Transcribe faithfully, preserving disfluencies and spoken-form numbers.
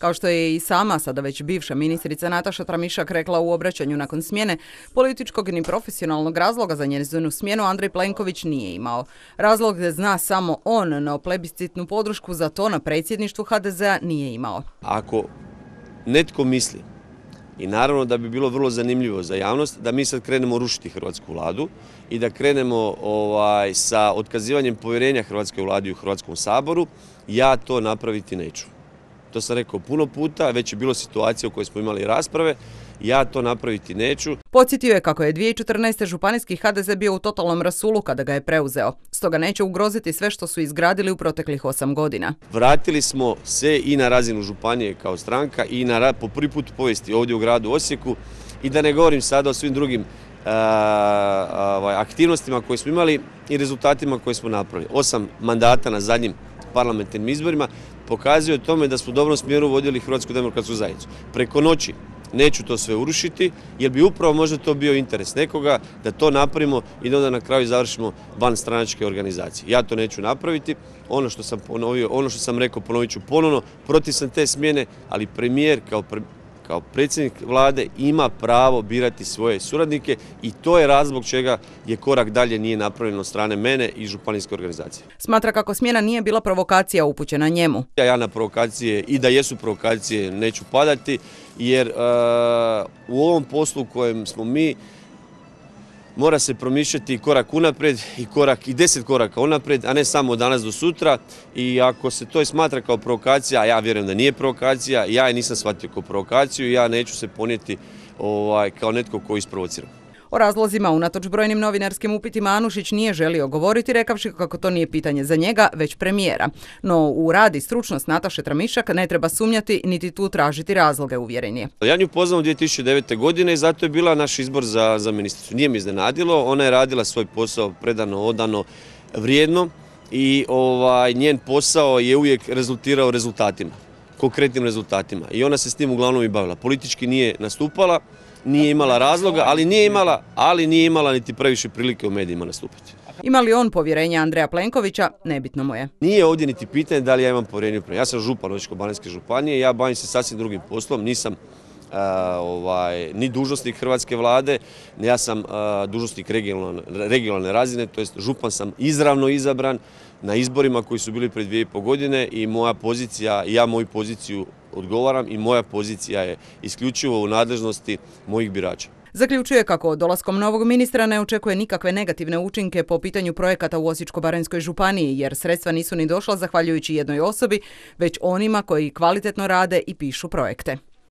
Kao što je i sama, sada već bivša ministrica Nataša Tramišak rekla u obraćanju nakon smjene, političkog ni profesionalnog razloga za njezinu smjenu Andrej Plenković nije imao. Razlog zna samo on, no plebiscitnu podršku za to na predsjedništvu ha de zea nije imao. Ako netko misli, i naravno da bi bilo vrlo zanimljivo za javnost, da mi sad krenemo rušiti hrvatsku vladu i da krenemo ovaj, sa otkazivanjem povjerenja hrvatskoj vladi u Hrvatskom saboru, ja to napraviti neću. To sam rekao puno puta, već je bilo situacija u kojoj smo imali rasprave, ja to napraviti neću. Podsjetio je kako je dvije tisuće četrnaeste. županijski ha de ze bio u totalnom rasulu kada ga je preuzeo, stoga neće ugroziti sve što su izgradili u proteklih osam godina. Vratili smo se i na razinu županije kao stranka i na, po prvi put u povijesti ovdje u gradu Osijeku i da ne govorim sada o svim drugim a, a, aktivnostima koje smo imali i rezultatima koje smo napravili. Osam mandata na zadnjim parlamentarnim izborima pokazuje tome da smo u dobrom smjeru vodili Hrvatsku demokratsku zajednicu. Preko noći neću to sve urušiti, jer bi upravo možda to bio interes nekoga da to napravimo i da onda na kraju završimo van stranačke organizacije. Ja to neću napraviti. Ono što sam ponovio, ono što sam rekao, ponovit ću ponovno, protiv sam te smjene, ali premijer kao pre... kao predsjednik vlade ima pravo birati svoje suradnike i to je razlog čega je korak dalje nije napravljen od strane mene i županijske organizacije. Smatra kako smjena nije bila provokacija upućena njemu. Ja na provokacije i da jesu provokacije neću padati jer uh, u ovom poslu u kojem smo mi mora se promišljati korak unaprijed i korak i deset koraka unaprijed, a ne samo od danas do sutra. I ako se to smatra kao provokacija, a ja vjerujem da nije provokacija, ja je nisam shvatio kao provokaciju i ja neću se ponijeti ovaj, kao netko koji isprovocira. O razlozima unatoč brojnim novinarskim upitima Anušić nije želio govoriti, rekavši kako to nije pitanje za njega, već premijera. No u rad i stručnost Nataše Tramišak ne treba sumnjati niti tu tražiti razloge, uvjeren je. Ja nju poznam dvije tisuće devete. godine i zato je bila naš izbor za, za ministricu. Nije mi iznenadilo, ona je radila svoj posao predano, odano, vrijedno i ovaj, njen posao je uvijek rezultirao rezultatima, konkretnim rezultatima. I ona se s tim uglavnom i bavila. Politički nije nastupala, nije imala razloga, ali nije imala, ali nije imala niti previše prilike u medijima nastupiti. Ima li on povjerenja Andreja Plenkovića, nebitno mu je. Nije ovdje niti pitanje da li ja imam povjerenje u premijera. Ja sam župan Osječko-baranjske županije, ja bavim se sasvim drugim poslom, nisam uh, ovaj, ni dužnosnik hrvatske vlade, ja sam uh, dužnosnik regionalne, regionalne razine, to jest župan sam izravno izabran na izborima koji su bili pred dvije i pol godine i moja pozicija, ja moju poziciju odgovaram i moja pozicija je isključivo u nadležnosti mojih birača. Zaključuje kako dolaskom novog ministra ne očekuje nikakve negativne učinke po pitanju projekata u Osječko-baranjskoj županiji, jer sredstva nisu ni došla zahvaljujući jednoj osobi, već onima koji kvalitetno rade i pišu projekte.